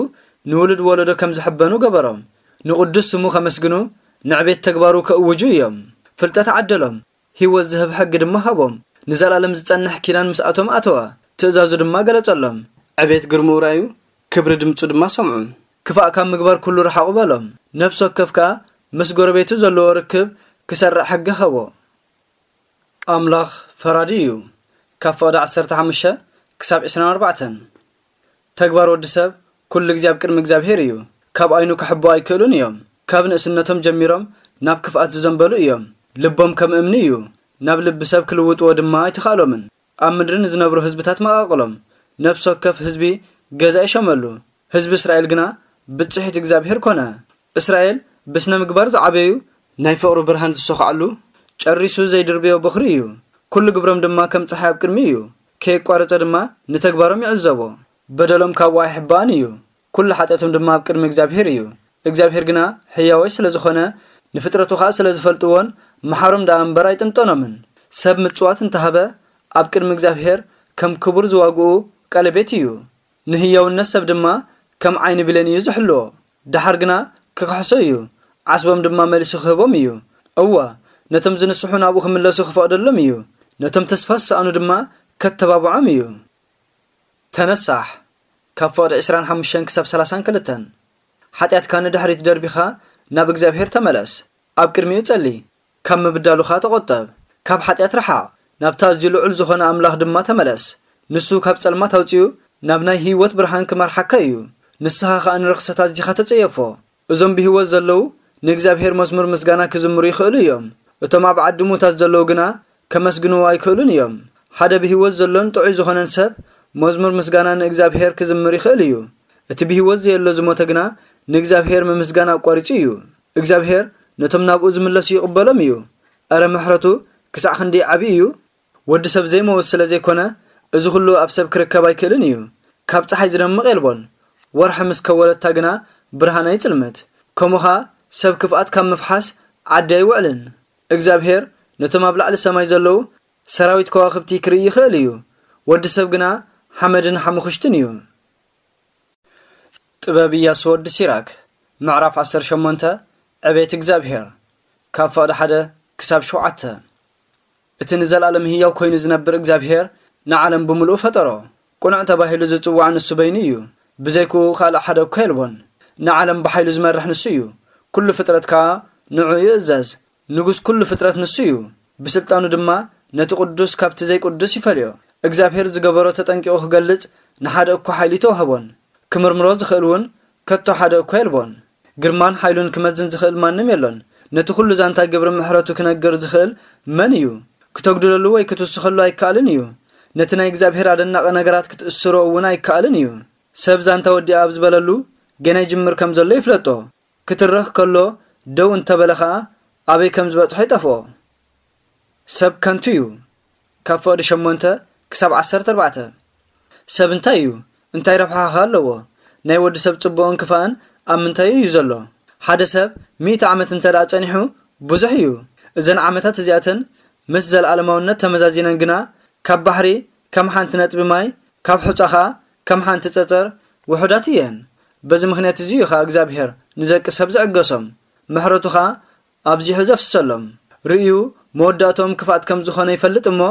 ንውሉድ ወለዶ ከም ዝሕበኑ ገበሮም። ንቕዱስ ስሙ ከመስግኑ፣ ንዕቤት ተግባሩ ከእውጁ እዮም። ፍልጠት ዓደሎም። ህይወት ዝህብ ሕጊ ድማ ሃቦም። ንዘለኣለም ዝጸንሕ ኪዳን ምስኣቶም ኣተወ። ትእዛዙ ድማ ገለጸሎም። ዕቤት ግርምኡ ረኣዩ፣ ክብሪ ድምጹ ድማ ሰምዑ። ክፋእ ካብ ምግባር ኩሉ ርሓቑ በሎም። ነፍሲ ወከፍ ከኣ ምስ ጎረቤቱ ዘለዎ ርክብ ክሰርዕ ሕጊ ሃቦ። ኣምላኽ ፈራዲ እዩ። ካብ ፍቕዲ ዓሰርተ ሓሙሽተ ክሳብ ዕስራን ኣርባዕተን። ተግባር ወዲ ሰብ ኩሉ ግዜ ኣብ ቅድሚ እግዚኣብሔር እዩ። ካብ ኣይኑ ክሕብኡ ኣይክእሉን እዮም። ካብ ንእስነቶም ጀሚሮም ናብ ክፍኣት ዝዘንበሉ እዮም። ልቦም ከም እምኒ እዩ። ናብ ልቢ ሰብ ክልውጥዎ ድማ ኣይተኻእሎምን። ኣብ ምድሪ ንዝነብሩ ህዝብታት መቓቕሎም። ነፍሲ ወከፍ ህዝቢ ገዛ ይሸመሉ። ህዝቢ እስራኤል ግና ብጽሒት እግዚኣብሔር ኮነ። እስራኤል ብስነ ምግባር ዝዓበዩ፣ ናይ ፍቕሩ ብርሃን ዝሰኹዓሉ፣ ጨሪሱ ዘይድርብዮ በኹሪ እዩ። ኩሉ ግብሮም ድማ ከም ጸሓይ ኣብ ቅድሚ እዩ። ከየቋረጸ ድማ ንተግባሮም ይዕዘቦ። በደሎም ካብኡ ኣይሕባእን እዩ። ኩሉ ሓጢኣቶም ድማ ኣብ ቅድሚ እግዚኣብሔር እዩ። እግዚኣብሔር ግና ሕያዋይ ስለ ዝኾነ፣ ንፍጥረቱ ኸኣ ስለ ዝፈልጥዎን መሓሮም ደኣ እምበር ኣይጥንጠኖምን። ሰብ ምጽዋት እንተሃበ፣ ኣብ ቅድሚ እግዚኣብሔር ከም ክቡር ዝዋግኡ ቀለቤት እዩ። ንህያውነት ሰብ ድማ ከም ዓይኒ ብሌን እዩ ዝሕልዎ። ደሓር ግና ክክሕሶ እዩ፣ ዓስቦም ድማ መሊሱ ክህቦም እዩ። እወ፣ ነቶም ዝንስሑ ናብኡ ክምለሱ ክፈቕደሎም እዩ። ነቶም ተስፋ ዝሰኣኑ ድማ ከተባብዖም እዩ። ተነሳሕ፣ ካብ ፍቕዲ ዕስራን ሓሙሽተን ክሳብ ሰላሳን ክልተን። ሓጢኣትካ ንድሕሪት ደርቢኻ ናብ እግዚኣብሔር ተመለስ። ኣብ ቅድሚኡ ጸሊ፣ ካብ ምብዳሉኻ ተቖጠብ። ካብ ሓጢኣት ርሓቕ፣ ናብቲ ኣዝዩ ልዑል ዝኾነ ኣምላኽ ድማ ተመለስ። ንሱ ካብ ጸልማት ኣውጺኡ ናብ ናይ ህይወት ብርሃን ክመርሓካ እዩ። ንስኻ ኸኣ ንርኽሰት ኣዚኻ ተጸየፎ። እዞም ብህይወት ዘለዉ ንእግዚኣብሔር መዝሙር ምስጋና ክዝምሩ ይኽእሉ እዮም። እቶም ኣብ ዓዲ ሙታት ዘለዉ ግና ከመስግንዎ ኣይክእሉን እዮም። ሓደ ብህይወት ዘሎን ጥዑይ ዝኾነን ሰብ መዝሙር ምስጋና ንእግዚኣብሔር ክዝምር ይኽእል እዩ። እቲ ብህይወት ዘየሎ ዝሞተ ግና ንእግዚኣብሔር ምምስጋን ኣቋሪጹ እዩ። እግዚኣብሔር ነቶም ናብኡ ዝምለሱ ይቕበሎም እዩ። እረ ምሕረቱ ክሳዕ ክንደይ ዓቢ እዩ! ወዲ ሰብ ዘይመውት ስለ ዘይኮነ፣ እዚ ኹሉ ኣብ ሰብ ክርከብ ኣይክእልን እዩ። ካብ ጸሓይ ዝደምቕ የልቦን፣ ወርሒ ምስ ከወለታ ግና ብርሃን ኣይጽልምት። ከምኡ ኸኣ ሰብ ክፍኣት ካብ ምፍሓስ ዓዲ ኣይውዕልን። እግዚኣብሔር ነቶም ኣብ ላዕሊ ሰማይ ዘለዉ ሰራዊት ከዋኽብቲ ክርኢ ይኽእል እዩ። ወዲ ሰብ ግና ሓመድን ሓሙኽሽትን እዩ። ጥበብ ኢያሱ ወዲ ሲራክ። ምዕራፍ ዓሰርተ ሸሞንተ። ዕቤት እግዚኣብሔር። ካብ ፍቕዲ ሓደ ክሳብ ሸውዓተ። እቲ ንዘለኣለም ህያው ኮይኑ ዝነብር እግዚኣብሔር ንዓለም ብምሉኡ ፈጠሮ። ቅኑዕ ተባሂሉ ዝጽዋዕ ንሱ በይኑ እዩ። ብዘይክኡ ካልእ ሓደ እኳ የልቦን። ንዓለም ብሓይሉ ዝመርሕ ንሱ እዩ። ኩሉ ፍጥረት ከኣ ንዕኡ ይእዘዝ። ንጉስ ኩሉ ፍጥረት ንሱ እዩ። ብስልጣኑ ድማ ነቲ ቅዱስ ካብቲ ዘይቅዱስ ይፈልዮ። እግዚኣብሔር ዝገበሮ ተጠንቂቑ ክገልጽ ንሓደ እኳ ሓይሊ ኣይተዋህቦን። ክምርምሮ ዝኽእል እውን ከቶ ሓደ እኳ የልቦን። ግርማን ሓይሉን ክመዝን ዝኽእል ማንም የሎን። ነቲ ኩሉ ዛንታ ግብሪ ምሕረቱ ክነግር ዝኽእል መን እዩ? ክተጉድለሉ ወይ ክትውስኸሉ ኣይከኣልን እዩ። ነቲ ናይ እግዚኣብሔር ኣደናቒ ነገራት ክትእስሮ እውን ኣይከኣልን እዩ። ሰብ ዛንታ ወዲኣ ኣብ ዝበለሉ ገና ይጅምር ከም ዘሎ ይፍለጦ። ክትረኽ ከሎ ደው እንተበለ ኸኣ ኣበይ ከም ዝበጽሖ ይጠፍኦ። ሰብ ከንቱ እዩ። ካብ ፍቕዲ ሸሞንተ ክሳብ ዓሰርተ ኣርባዕተ። ሰብ እንታይ እዩ? እንታይ ረብሓ ኸ ኣለዎ? ናይ ወዲ ሰብ ጽቡቕን ክፋእን ኣብ ምንታይ እዩ ዘሎ? ሓደ ሰብ ሚእቲ ዓመት እንተ ደኣ ጸኒሑ ብዙሕ እዩ። እዘን ዓመታት እዚኣተን ምስ ዘለኣለማውነት ተመዛዚነን ግና ካብ ባሕሪ ከም ሓንቲ ነጥቢ ማይ፣ ካብ ሑጻ ኸኣ ከም ሓንቲ ጸጸር ውሑዳት እየን። በዚ ምኽንያት እዚ እዩ ኸኣ እግዚኣብሔር ንደቂ ሰብ ዝዕገሶም፣ ምሕረቱ ኸኣ ኣብዚሑ ዘፍስሰሎም። ርእዩ መወዳእትኦም ክፍኣት ከም ዝኾነ ይፈልጥ እሞ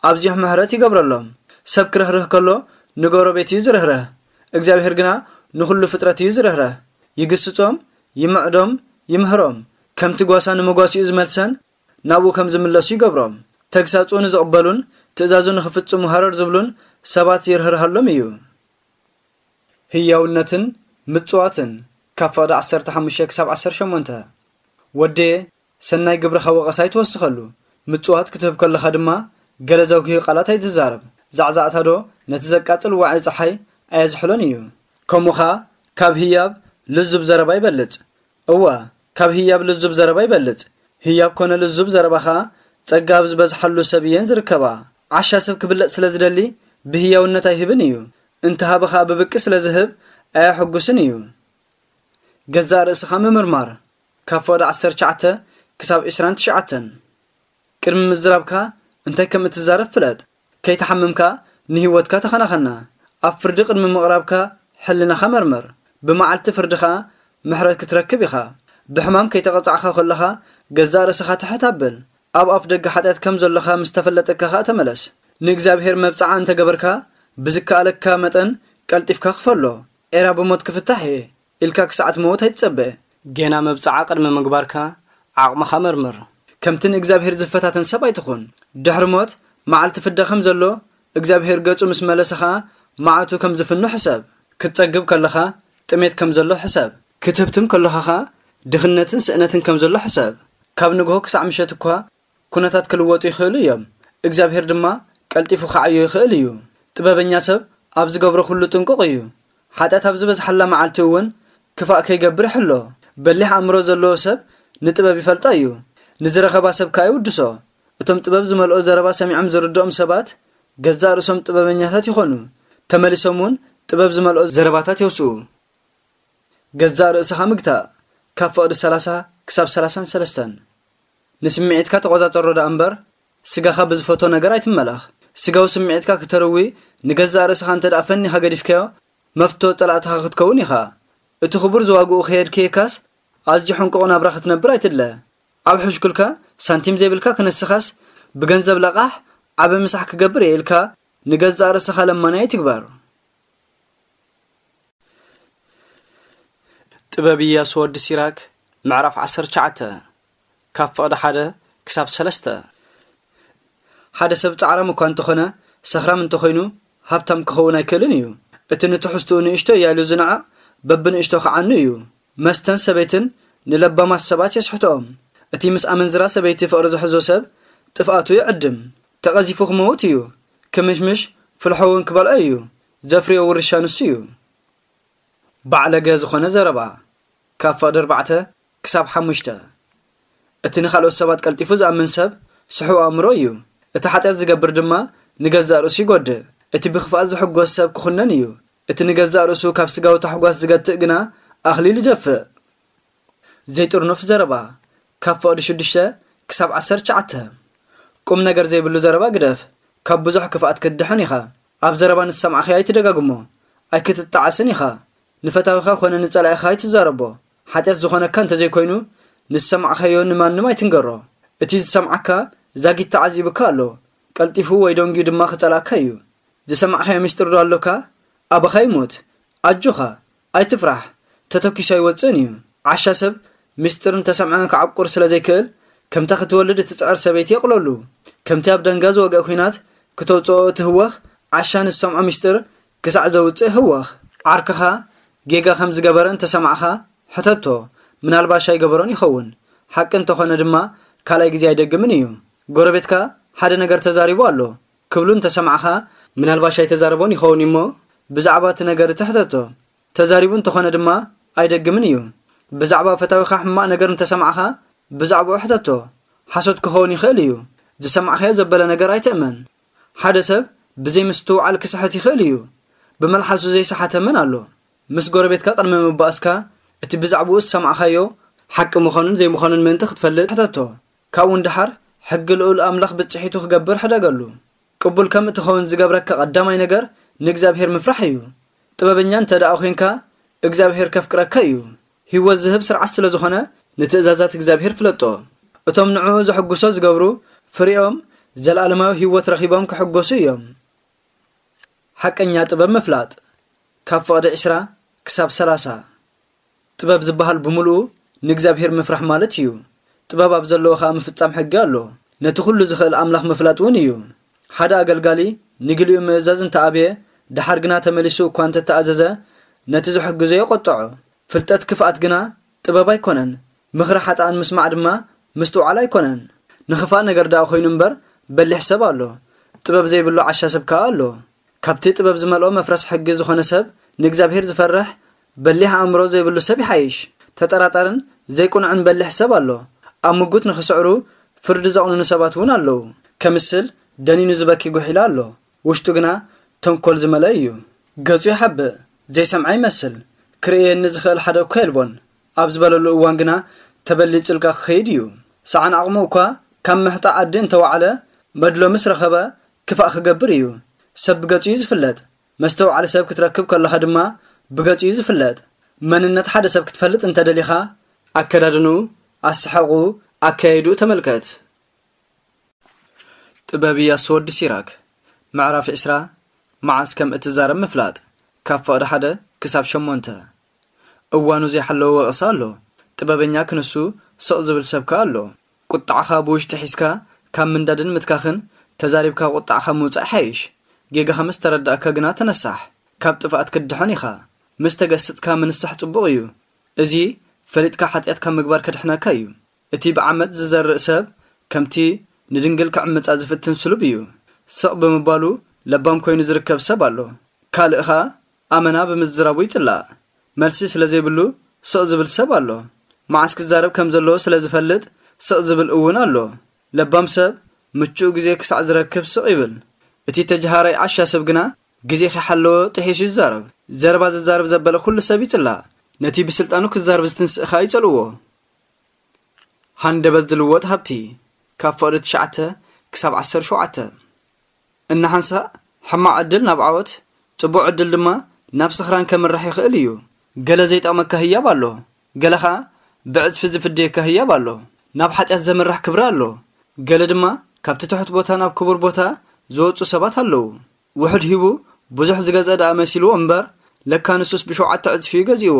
ኣብዚሑ ምሕረት ይገብረሎም። ሰብ ክርህርህ ከሎ ንጎረቤት እዩ ዝርህርህ። እግዚኣብሔር ግና ንኹሉ ፍጥረት እዩ ዝርህርህ። ይግስጾም፣ ይምዕዶም፣ ይምህሮም። ከምቲ ጓሳ ንመጓሲኡ ዝመልሰን ናብኡ ከም ዝምለሱ ይገብሮም። ተግሳጹ ንዝቕበሉን ትእዛዙ ንኽፍጽሙ ሃረር ዝብሉን ሰባት ይርህርሃሎም እዩ። ህያውነትን ምጽዋትን። ካብ ፍቕዲ ዓሰርተ ሓሙሽተ ክሳብ ዓሰርተ ሸሞንተ። ወደየ፣ ሰናይ ግብርኻ ወቐሳ ኣይትወስኸሉ። ምጽዋት ክትህብ ከለኻ ድማ ገለ ዘጉሂ ቃላት ኣይትዛረብ። ዛዕዛዕታ ዶ ነቲ ዘቃጽል ዋዒ ጸሓይ ኣየዝሕሎን እዩ። ከምኡ ኸኣ ካብ ህያብ ልዙብ ዘረባ ይበልጽ። እወ፣ ካብ ህያብ ልዙብ ዘረባ ይበልጽ። ህያብ ኮነ ልዙብ ዘረባ ኸኣ ጸጋ ኣብ ዝበዝሓሉ ሰብ እየን ዝርከባ። ዓሻ ሰብ ክብለጽ ስለ ዝደሊ ብህያውነት ኣይህብን እዩ። እንተሃበ ኸኣ ብብቂ ስለ ዝህብ ኣየሐጉስን እዩ። ገዛእ ርእስኻ ምምርማር። ካብ ፍቕዲ ዓሰርተ ትሽዓተ ክሳብ ዕስራን ትሽዓተን። ቅድሚ ምዝራብካ እንታይ ከም እትዛረብ ፍለጥ። ከይተሓምምካ ንህይወትካ ተኸናኸና። ኣብ ፍርዲ ቅድሚ ምቕራብካ ሕልናኻ መርምር። ብመዓልቲ ፍርዲ ኸኣ ምሕረት ክትረክብ ኢኻ። ብሕማም ከይተቐጻዕካ ከለኻ ገዛእ ርእስኻ ትሕት ኣብል። ኣብ ኣፍ ደገ ሓጢኣት ከም ዘሎኻ ምስ ተፈለጠካ ኸኣ ተመለስ። ንእግዚኣብሔር መብጽዓ እንተ ገበርካ ብዝከኣለካ መጠን ቀልጢፍካ ክፈሎ። ኤራ ብሞት ክፍታሕ እየ ኢልካ ክሳዕ ትመውት ኣይትጸበ። ጌና መብጽዓ ቅድሚ ምግባርካ ዓቕምኻ መርምር። ከምቲ ንእግዚኣብሔር ዝፈታተን ሰብ ኣይትኹን። ድሕሪ ሞት መዓልቲ ፍዳ ከም ዘሎ እግዚኣብሔር ገጹ ምስ መለሰ ኸኣ መዓቱ ከም ዝፍኑ ሕሰብ። ክትጸግብ ከለኻ ጥሜት ከም ዘሎ ሕሰብ። ክትህብትም ከለኻ ኸኣ ድኽነትን ስእነትን ከም ዘሎ ሕሰብ። ካብ ንግሆ ክሳዕ ምሸት እኳ ኩነታት ክልወጡ ይኽእሉ እዮም። እግዚኣብሔር ድማ ቀልጢፉ ክዓዮ ይኽእል እዩ። ጥበበኛ ሰብ ኣብ ዝገብሮ ኩሉ ጥንቁቕ እዩ። ሓጢኣት ኣብ ዝበዝሓላ መዓልቲ እውን ክፋእ ከይገብር ይሕሎ። በሊሕ ኣእምሮ ዘለዎ ሰብ ንጥበብ ይፈልጣ እዩ። ንዝረኸባ ሰብ ከኣ ይውድሶ። እቶም ጥበብ ዝመልኦ ዘረባ ሰሚዖም ዝርድኦም ሰባት ገዛእ ርእሶም ጥበበኛታት ይኾኑ። ተመሊሶም እውን ጥበብ ዝመልኦ ዘረባታት የውስኡ። ገዛእ ርእስኻ ምግታእ። ካብ ፍቕዲ ሰላሳ ክሳብ ሰላሳን ሰለስተን። ንስምዒትካ ተቖጻጸሮ ደኣ እምበር፣ ስጋኻ ብዝፈቶ ነገር ኣይትመላኽ። ስጋዊ ስምዒትካ ክተርዊ ንገዛእ ርእስኻ እንተ ደኣ ፈኒኻ ገዲፍካዮ፣ መፍቶ ጸላእትኻ ክትከውን ኢኻ። እቲ ክቡር ዝዋግኡ ከየድከየካስ፣ ኣዝዩ ሕንቁቕ ናብራ ክትነብር ኣይትድለ። ኣብ ሕሽኩልካ ሳንቲም ዘይብልካ ክነስኻስ፣ ብገንዘብ ለቓሕ ዓቢ ምሳሕ ክገብር እየ ኢልካ ንገዛእ ርእስኻ ለማኒ ኣይትግበር። ጥበብ ኢያሱ ወዲ ሲራክ፣ ምዕራፍ ዓሰርተ ትሽዓተ፣ ካብ ፍቕዲ ሓደ ክሳብ ሰለስተ። ሓደ ሰብ ጻዕራም እኳ እንተኾነ፣ ሰኽራም እንተኾይኑ፣ ሃብታም ክኸውን ኣይክእልን እዩ። እቲ ንትሕዝትኡ ንእሽቶ እያ ኢሉ ዝንዕቕ፣ በብንእሽቶ ክዓኑ እዩ። መስተን ሰበይትን ንለባማት ሰባት የስሕትኦም። እቲ ምስ ኣመንዝራ ሰበይቲ ፍቕሪ ዝሕዞ ሰብ፣ ጥፍኣቱ ይዕድም። ተቐዚፉ ክመውት እዩ። ክምሽምሽ ፍልሖ እውን ክበልዖ እዩ። ዘፍርዮ ውርሻ ንሱ እዩ። ባዕለገ ዝኾነ ዘረባ። ካብ ፍቕዲ ኣርባዕተ ክሳብ ሓሙሽተ። እቲ ንኻልኦት ሰባት ቀልጢፉ ዝኣምን ሰብ ስሑው ኣእምሮ እዩ። እቲ ሓጢኣት ዝገብር ድማ ንገዛእ ርእሱ ይጎድእ። እቲ ብኽፍኣት ዝሕጎስ ሰብ ክኹነን እዩ። እቲ ንገዛእ ርእሱ ካብ ስጋዊ ታሕጓስ ዝገትእ ግና ኣኽሊል ይደፍእ። ዘይጥርኑፍ ዘረባ። ካብ ፍቕዲ ሽዱሽተ ክሳብ ዓሰርተ ትሽዓተ። ቁም ነገር ዘይብሉ ዘረባ ግደፍ። ካብ ብዙሕ ክፍኣት ክትድሕን ኢኻ። ኣብ ዘረባ ንዝሰማዕኻዮ ኣይትደጋግሞ። ኣይክትጣዓስን ኢኻ። ንፈታዊኻ ኮነ ንጸላኢኻ ኣይትዛረቦ። ሓጢኣት ዝኾነካ እንተዘይኮይኑ፣ ንዝሰማዕኻዮ ንማንም ኣይትንገሮ። እቲ ዝሰምዓካ ዛጊት ተዓዚቡካ ኣሎ። ቀልጢፉ ወይ ደንጊዩ ድማ ክጸልኣካ እዩ። ዝሰማዕኻዮ ምስጢር ዶ ኣሎካ? ኣባኻ ይሙት። ኣጆኻ፣ ኣይትፍራሕ። ተተኪሱ ኣይወጽእን እዩ። ዓሻ ሰብ ምስጢር እንተሰምዐ ክዓቁር ስለ ዘይክእል፣ ከምታ ክትወልድ እትጽዕር ሰበይቲ የቕለሉ። ከምቲ ኣብ ደንጋ ዝወግአ ኲናት ክተውጽኦ እቲ ህወኽ፣ ዓሻ ንዝሰምዖ ምስጢር ክሳዕ ዘውጽእ ህወኽ። ዓርክኻ ጌጋ ከም ዝገበረ እንተሰማዕኻ፣ ሕተቶ። ምናልባሽ ኣይገበሮን ይኸውን። ሓቂ እንተኾነ ድማ፣ ካልኣይ ግዜ ኣይደግምን እዩ። ጎረቤትካ ሓደ ነገር ተዛሪቡ ኣሎ ክብሉ እንተሰማዕኻ፣ ምናልባሽ ኣይተዛረቦን ይኸውን እሞ፣ ብዛዕባ እቲ ነገር እቲ ሕተቶ። ተዛሪቡ እንተኾነ ድማ ኣይደግምን እዩ። ብዛዕባ ፈታዊኻ ሕማቕ ነገር እንተሰማዕኻ፣ ብዛዕባኡ ሕተቶ። ሓሶት ክኸውን ይኽእል እዩ። ዝሰማዕካዮ ዘበለ ነገር ኣይትእመን። ሓደ ሰብ ብዘይ ምስትውዓል ክስሕት ይኽእል እዩ። ብመልሓሱ ዘይሰሓተ መን ኣሎ? ምስ ጎረቤትካ ቅድሚ ምባእስካ፣ እቲ ብዛዕባኡ ዝሰማዕካዮ ሓቂ ምዃኑን ዘይምዃኑን ምእንቲ ክትፈልጥ ሕተቶ። ካብኡ ንደሓር፣ ሕጊ ልኡል ኣምላኽ ብጽሒቱ ክገብር ሕደገሉ። ቅቡል ከም እትኸውን ዝገብረካ ቀዳማይ ነገር ንእግዚኣብሔር ምፍራሕ እዩ። ጥበበኛ እንተ ደኣ ኾይንካ፣ እግዚኣብሔር ከፍቅረካ እዩ። ህይወት ዝህብ ስርዓት ስለ ዝኾነ፣ ንትእዛዛት እግዚኣብሔር ፍለጦ። እቶም ንዕኡ ዘሕጉሶ ዝገብሩ፣ ፍሬኦም ዘለኣለማዊ ህይወት ረኺቦም ክሕጎሱ እዮም። ሓቀኛ ጥበብ ምፍላጥ። ካብ ፍቕዲ ዕስራ ክሳብ ሰላሳ። ጥበብ ዝበሃል ብምሉኡ ንእግዚኣብሔር ምፍራሕ ማለት እዩ። ጥበብ ኣብ ዘለዎ ኸኣ ምፍጻም ሕጊ ኣሎ። ነቲ ኹሉ ዝኽእል ኣምላኽ ምፍላጥ እውን እዩ። ሓደ ኣገልጋሊ ንግሊኡ ምእዛዝ እንተ ኣብየ፣ ደሓር ግና ተመሊሱ እኳ እንተ ተኣዘዘ፣ ነቲ ዝሕግዞ የቖጥዖ። ፍልጠት ክፍኣት ግና ጥበብ ኣይኮነን። ምኽሪ ሓጥኣን ምስማዕ ድማ ምስትውዓል ኣይኮነን። ንኽፋእ ነገር ደኣ ኾይኑ እምበር በሊሕ ሰብ ኣሎ። ጥበብ ዘይብሉ ዓሻ ሰብ ከኣ ኣሎ። ካብቲ ጥበብ ዝመልኦ መፍረስ ሕጊ ዝኾነ ሰብ ንእግዚኣብሔር ዝፈርሕ በሊሕ ኣእምሮ ዘይብሉ ሰብ ይሓይሽ። ተጠራጣርን ዘይቅኑዕን በሊሕ ሰብ ኣሎ። ኣብ ምጉት ንኽስዕሩ ፍርዲ ዘቕንኑ ሰባት እውን ኣለዉ። ከምስል ደኒኑ ዝበኪ ጉሒላ ኣሎ። ውሽጡ ግና ተንኮል ዝመልአ እዩ። ገጹ ይሓብእ፣ ዘይሰምዐ ይመስል። ክርእየኒ ዝኽእል ሓደ እኳ የልቦን ኣብ ዝበለሉ እዋን ግና ተበሊጹልካ ክኸይድ እዩ። ሰዓን ዓቕሙ እኳ ካብ ምሕጣእ ዓዲ እንተወዓለ መድሎ ምስ ረኸበ ክፋእ ክገብር እዩ። ሰብ ብገጹ እዩ ዝፍለጥ። መስተውዓሊ ሰብ ክትረክብ ከለኻ ድማ ብገጹ እዩ ዝፍለጥ። መንነት ሓደ ሰብ ክትፈልጥ እንተደሊኻ ኣከዳድንኡ፣ ኣሰሓቑኡ፣ ኣካያይድኡ ተመልከት። ጥበብ ኢያሱ ወዲ ሲራክ። ምዕራፍ ዕስራ። መዓስ ከም እትዛረብ ምፍላጥ። ካብ ፍቕዲ ሓደ ክሳብ ሸሞንተ። እዋኑ ዘይሓለወ ወቐሳ ኣሎ። ጥበበኛ ክንሱ ስቕ ዝብል ሰብ ከኣ ኣሎ። ቁጥዓኻ ብውሽጢ ሒዝካ ካብ ምንዳድን ምትካኽን ተዛሪብካ ቁጥዓኻ ምውጻእ ይሓይሽ። ጌጋኻ ምስ ተረዳእካ ግና ተነሳሕ። ካብ ጥፍኣት ክትድሕን ኢኻ። ምስ ተገስጽካ ምንሳሕ ጽቡቕ እዩ። እዚ ፈሊጥካ ሓጢኣት ካብ ምግባር ከድሕነካ እዩ። እቲ ብዓመጽ ዝዘርእ ሰብ ከምቲ ንድንግል ክዕምጻ ዝፍትን ስሉብ እዩ። ስቕ ብምባሉ ለባም ኮይኑ ዝርከብ ሰብ ኣሎ። ካልእ ኸኣ ኣመና ብምዝራቡ ይጽላእ። መልሲ ስለ ዘይብሉ ስቕ ዝብል ሰብ ኣሎ። መዓስ ክዛረብ ከም ዘለዎ ስለ ዝፈልጥ ስቕ ዝብል እውን ኣሎ። ለባም ሰብ ምቹእ ግዜ ክሳዕ ዝረክብ ስቕ ይብል። እቲ ተጀሃራይ ዓሻ ሰብ ግና ግዜ ከይሓለወ ጥሒሱ ይዛረብ። ዘረባ ዝዛረብ ዘበለ ኩሉ ሰብ ይጽላእ። ነቲ ብስልጣኑ ክዛረብ ዝትንስእ ኸኣ ይጸልዎ። ሃንደበት ዝልወጥ ሃብቲ። ካብ ፍቕዲ ትሽዓተ ክሳብ ዓሰርተ ሸውዓተ። እናሓንሳእ ሕማቕ ዕድል ናብ ዓወት፣ ጽቡቕ ዕድል ድማ ናብ ስኽራን ከምርሕ ይኽእል እዩ። ገለ ዘይጠቕመካ ህያብ ኣሎ፣ ገለ ኸኣ ብዕጽፊ ዝፍደየካ ህያብ ኣሎ። ናብ ሓጢኣት ዘምርሕ ክብሪ ኣሎ፣ ገለ ድማ ካብቲ ትሑት ቦታ ናብ ክቡር ቦታ ዝወጹ ሰባት ኣለዉ። ውሑድ ሂቡ ብዙሕ ዝገዝአ ደኣ መሲልዎ እምበር፣ ለካ ንሱስ ብሸውዓተ ዕጽፊ እዩ ገዚእዎ።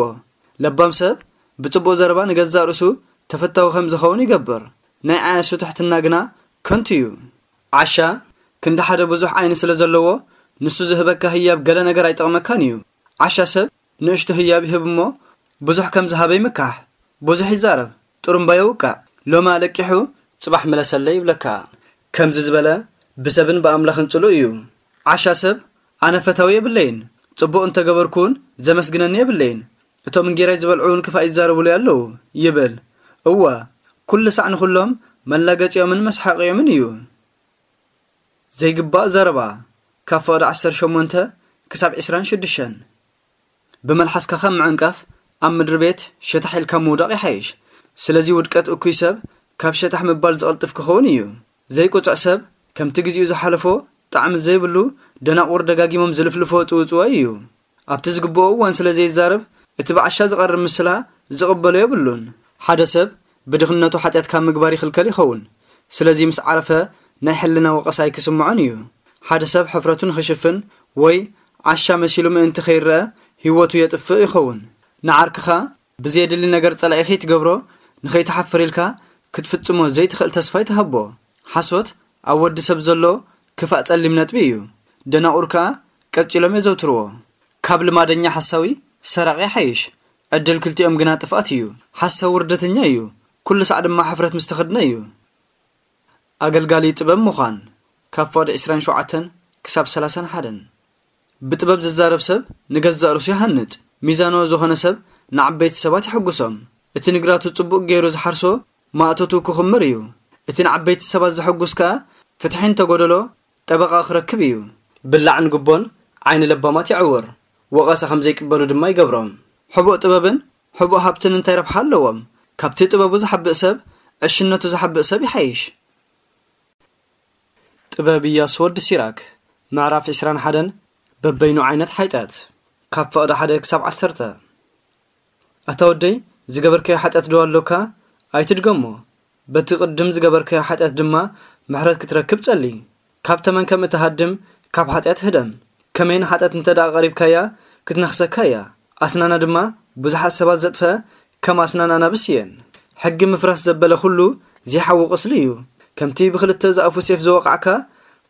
ለባም ሰብ ብጽቡቕ ዘረባ ንገዛእ ርእሱ ተፈታዊ ከም ዝኸውን ይገብር። ናይ ዓያሱ ትሕትና ግና ከንቱ እዩ። ዓሻ ክንዲ ሓደ ብዙሕ ዓይኒ ስለ ዘለዎ፣ ንሱ ዝህበካ ህያብ ገለ ነገር ኣይጠቕመካን እዩ። ዓሻ ሰብ ንእሽቶ ህያብ ይህብ እሞ፣ ብዙሕ ከም ዝሃበ ይምካሕ። ብዙሕ ይዛረብ፣ ጥሩምባ የውቅዕ። ሎሚ ኣለቂሑ፣ ጽባሕ ምለሰለይ ይብለካ። ከምዚ ዝበለ ብሰብን ብኣምላኽን ጽሉእ እዩ። ዓሻ ሰብ ኣነ ፈታዊ የብለይን፣ ጽቡቕ እንተገበርኩውን ዘመስግነኒ የብለይን። እቶም እንጌራይ ዝበልዑ እውን ክፋእ ይዛረቡለይ ኣለዉ ይብል። እወ፣ ኩሉ ሳዕ ንኹሎም መላገጺኦምን መስሓቂኦምን እዩ። ዘይግባእ ዘረባ። ካብ ፍቕዲ ዓሰርተ ሸሞንተ ክሳብ ዕስራን ሽዱሽተን። ብመልሓስካ ካብ ምዕንቃፍ ኣብ ምድሪ ቤት ሸታሕ ኢልካ ምውዳቕ ይሓይሽ። ስለዚ ውድቀት እኩይ ሰብ ካብ ሸታሕ ምባል ዝቐልጥፍ ክኸውን እዩ። ዘይቁጽዕ ሰብ ከምቲ ግዜኡ ዝሓለፎ ጣዕሚ ዘይብሉ ደናቑር ደጋጊሞም ዝልፍልፎ ጽውጽዋይ እዩ። ኣብቲ ዝግብኦ እዋን ስለ ዘይዛረብ እቲ ብዓሻ ዝቐርብ ምስላ ዝቕበሎ የብሉን። ሓደ ሰብ ብድኽነቱ ሓጢኣት ካብ ምግባር ይኽልከል ይኸውን። ስለዚ ምስ ዓረፈ ናይ ሕልና ወቐሳ ኣይክስምዖን እዩ። ሓደ ሰብ ሕፍረቱ ንኽሽፍን ወይ ዓሻ መሲሉ ምእንቲ ከይረአ ህይወቱ የጥፍእ ይኸውን። ንዓርክኻ ብዘየድሊ ነገር ጸላኢ ከይትገብሮ ንኸይትሓፍር ኢልካ ክትፍጽሞ ዘይትኽእል ተስፋ ኣይትሃቦ። ሓሶት ኣብ ወዲ ሰብ ዘሎ ክፋእ ጸሊም ነጥቢ እዩ። ደናቑር ከኣ ቀጺሎም የዘውትርዎ። ካብ ልማደኛ ሓሳዊ ሰራቒ ይሓይሽ። ዕድል ክልቲኦም ግና ጥፍኣት እዩ። ሓሳዊ ውርደተኛ እዩ፣ ኩሉ ሳዕ ድማ ሕፍረት ምስ ተኸድነ እዩ። ኣገልጋሊ ጥበብ ምዃን። ካብ ፍቕዲ ዕስራን ሸውዓተን ክሳብ ሰላሳን ሓደን። ብጥበብ ዝዛረብ ሰብ ንገዛእ ርእሱ ይሃንጽ። ሚዛናዊ ዝኾነ ሰብ ንዓበይቲ ሰባት የሐጉሶም። እቲ ንግራቱ ጽቡቕ ገይሩ ዝሓርሶ ማእቶቱ ክኹምር እዩ። እቲ ንዓበይቲ ሰባት ዘሐጉስ ከኣ ፍትሒ እንተጎደሎ ጠበቓ ክረክብ እዩ። ብላዕን ጉቦን ዓይኒ ለባማት የዕውር፣ ወቐሳ ከም ዘይቅበሉ ድማ ይገብሮም። ሕቡእ ጥበብን ሕቡእ ሃብትን እንታይ ረብሓ ኣለዎም? ካብቲ ጥበቡ ዝሓብእ ሰብ፣ ዕሽነቱ ዝሓብእ ሰብ ይሓይሽ። ጥበብ ኢያሱ ወዲ ሲራክ። ምዕራፍ ዕስራን ሓደን። በበይኑ ዓይነት ሓጢኣት። ካብ ፍቕዲ ሓደ ክሳብ ዓሰርተ። ኣታ ወደይ፣ ዝገበርካዮ ሓጢኣት ዶ ኣሎካ? ኣይትድገሞ። በቲ ቅድም ዝገበርካዮ ሓጢኣት ድማ ምሕረት ክትረክብ ጸሊ። ካብ ተመን ከም እትሃድም፣ ካብ ሓጢኣት ህደም። ከመይ ንሓጢኣት እንተ ደኣ ቀሪብካያ፣ ክትነኽሰካ እያ። ኣስናና ድማ ብዙሓት ሰባት ዘጥፍአ፣ ከም ኣስናን ኣናብስ እየን። ሕጊ ምፍራስ ዘበለ ኩሉ ዘይሓዊ ቁስሊ እዩ። ከምቲ ብኽልተ ዝኣፉ ሴፍ ዝወቓዕካ፣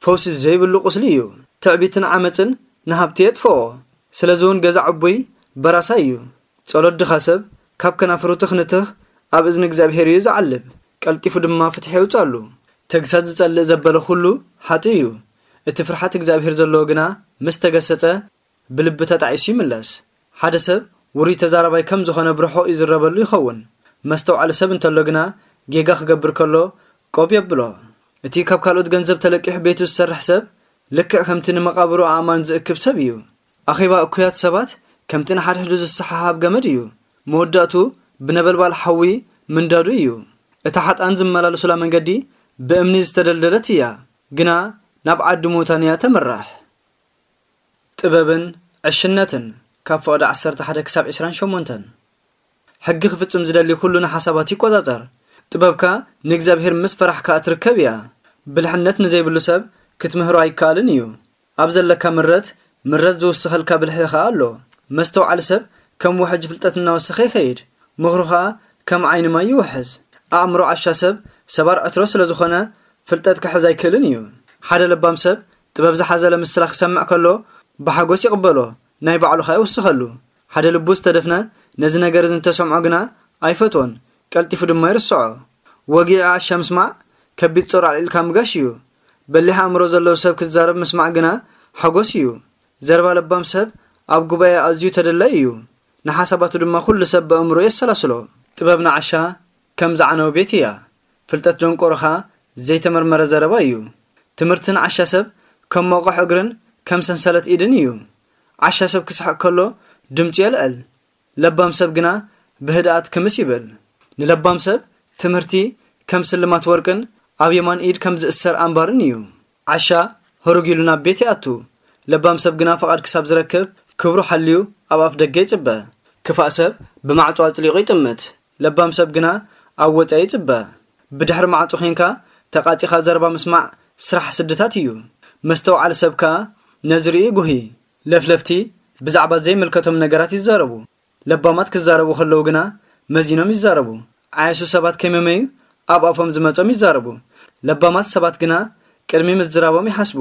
ፈውሲ ዘይብሉ ቁስሊ እዩ። ትዕቢትን ዓመጽን ንሃብቲ የጥፍኦ። ስለዚ እውን ገዛ ዕቡይ በራሳይ እዩ። ጸሎት ድኻ ሰብ ካብ ከናፍሩ ትኽንትኽ ኣብ እዝኒ እግዚኣብሄር እዩ ዝዓልብ፣ ቀልጢፉ ድማ ፍትሒ የውጽኣሉ። ተግሳጽ ዝጸልእ ዘበለ ኩሉ ሓጥእ እዩ። እቲ ፍርሓት እግዚኣብሄር ዘለዎ ግና ምስ ተገሰጸ ብልቢ ተጣዒሱ ይምለስ። ሓደ ሰብ ውሩይ ተዛራባይ ከም ዝኾነ ብርሑቕ ይዝረበሉ ይኸውን። መስተውዓሊ ሰብ እንተሎ ግና፣ ጌጋ ክገብር ከሎ ቆብ የብሎ። እቲ ካብ ካልኦት ገንዘብ ተለቂሑ ቤቱ ዝሰርሕ ሰብ፣ ልክዕ ከምቲ ንመቓብሩ ኣእማን ዝእክብ ሰብ እዩ። ኣኼባ እኩያት ሰባት ከምቲ ንሓድሕዱ ዝሰሓሃብ ገመድ እዩ። መወዳእቱ ብነበልባል ሓዊ ምንዳዱ እዩ። እታ ሓጥኣን ዝመላለሱላ መንገዲ ብእምኒ ዝተደልደለት እያ፣ ግና ናብ ዓዲ ሙታን እያ ተምርሕ። ጥበብን ዕሽነትን፣ ካብ ፍቕዲ ዓሰርተ ሓደ ክሳብ ዕስራን ሸሞንተን። ሕጊ ክፍጽም ዝደሊ ኩሉ ንሓሳባት ይቆጻጸር። ጥበብካ ንእግዚኣብሔር ምስ ፈራሕካ እትርከብ እያ። ብልሕነት ንዘይብሉ ሰብ ክትምህሮ ኣይከኣልን እዩ። ኣብ ዘለካ ምረት፣ ምረት ዝውስኸልካ ብልሒ ኸኣ ኣሎ። መስተውዓሊ ሰብ ከም ውሕጅ ፍልጠት እናወሰኸ ይኸይድ። ምኽሩ ኸኣ ከም ዓይኒ ማይ ይውሕዝ። ኣእምሮ ዓሻ ሰብ ሰባር ዕትሮ ስለ ዝኾነ፣ ፍልጠት ክሕዝ ኣይክእልን እዩ። ሓደ ለባም ሰብ ጥበብ ዝሓዘለ ምስላ ክሰምዕ ከሎ፣ ብሓጎስ ይቕበሎ፣ ናይ ባዕሉ ኸኣ ይውስኸሉ። ሓደ ልቡ ዝተደፍነ ነዚ ነገር እዚ እንተሰምዖ ግና ኣይፈትዎን፣ ቀልጢፉ ድማ ይርስዖ። ወጊዒ ዓሻ ምስማዕ ከቢድ ጾር ኣልዒልካ ምጋሽ እዩ። በሊሕ ኣእምሮ ዘለዎ ሰብ ክዛረብ ምስማዕ ግና ሓጎስ እዩ። ዘረባ ለባም ሰብ ኣብ ጉባኤ ኣዝዩ ተደላይ እዩ። ንሓሳባቱ ድማ ኩሉ ሰብ ብኣእምሮ የሰላስሎ። ጥበብ ንዓሻ ከም ዝዓነወ ቤት እያ። ፍልጠት ደንቆሮኻ ዘይተመርመረ ዘረባ እዩ። ትምህርቲ ንዓሻ ሰብ ከም መቑሕ እግርን ከም ሰንሰለት ኢድን እዩ። ዓሻ ሰብ ክስሕቕ ከሎ ድምፁ የልዕል። ለባም ሰብ ግና ብህድኣት ክምስ ይብል። ንለባም ሰብ ትምህርቲ ከም ስልማት ወርቅን ኣብ የማን ኢድ ከም ዝእሰር ኣምባርን እዩ። ዓሻ ህሩግ ኢሉ ናብ ቤት ይኣቱ። ለባም ሰብ ግና ፍቓድ ክሳብ ዝረክብ ክብሩ ሓልዩ ኣብ ኣፍ ደገ ይጽበ። ክፋእ ሰብ ብማዕጾ ኣጽሊቑ ይጥምት። ለባም ሰብ ግና ኣብ ወጻኢ ይጽበ። ብድሕሪ ማዕጾ ዄንካ ተቓጺኻ ዘረባ ምስማዕ ስራሕ ስድታት እዩ። መስተውዓሊ ሰብ ከኣ ነዚ ርእዩ ይጉሂ። ለፍለፍቲ ብዛዕባ ዘይምልከቶም ነገራት ይዛረቡ። ለባማት ክዛረቡ ከለዉ ግና መዚኖም ይዛረቡ። ዓያሹ ሰባት ከይመመዩ ኣብ ኣፎም ዝመጾም ይዛረቡ። ለባማት ሰባት ግና ቅድሚ ምዝራቦም ይሓስቡ።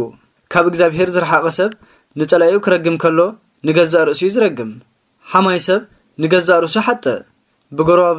ካብ እግዚኣብሔር ዝረሓቐ ሰብ ንጸላኢኡ ክረግም ከሎ ንገዛእ ርእሱ እዩ ዝረግም። ሓማይ ሰብ ንገዛእ ርእሱ ይሓጥእ። ብጎረባብ